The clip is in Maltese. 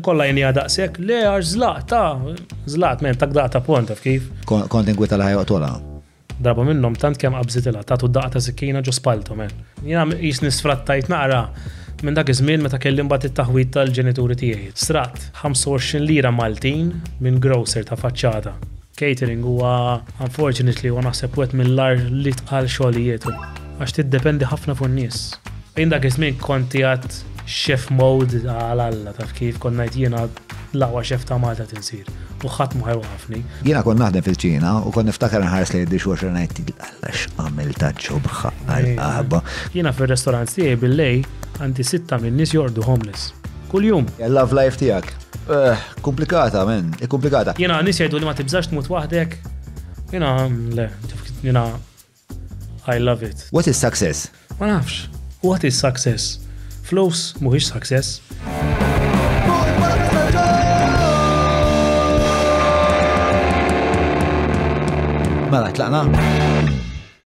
Kollha jien daqshekk, le għax żlaqt, ta' żlaqt men tak daqta pont taf kif. Kont inkwita li ħajoqtolha. Darba minnhom tant kemm qabżitilha tagħtu daqqa ta' sikkina ġo spaltu men. Jiena qisni sfrattajt naqra minn dak iż-żmien meta kelli mbagħad it-taħwid tal-ġenituri tiegħi. Sraqt 25 lira Maltin minn grocer ta' faċċata. Catering huwa unfortunately huwa naħseb wieħed mill-agħar li tqal xogħlijiet għax tiddependi ħafna fuq in-nies. Jien dak iż-żmien kont qiegħed chef mode għal Alla taf kif kont ngħid jiena l-aqwa chef ta' Malta tinsir u ħadd ma ħajwaqafni. Jiena kont naħdem fil-Ċina u kont niftakar nħares lejn id-dishwasher ngħid Alla x'għamilta ġobħa għal-qahba. Jiena fir-restaurant tiegħi bil-lejl għandi sitta min-nies jorqdu homeless. Kuljum. Il-love life tiegħek. Eh, komplikata, men, komplikata. Jiena nies jgħidu li ma tibżax tmut waħdek. Jiena le, jiena I love it. What is success? Ma nafx. What is success? Flus mhuwiex success. Mela, tlaqna?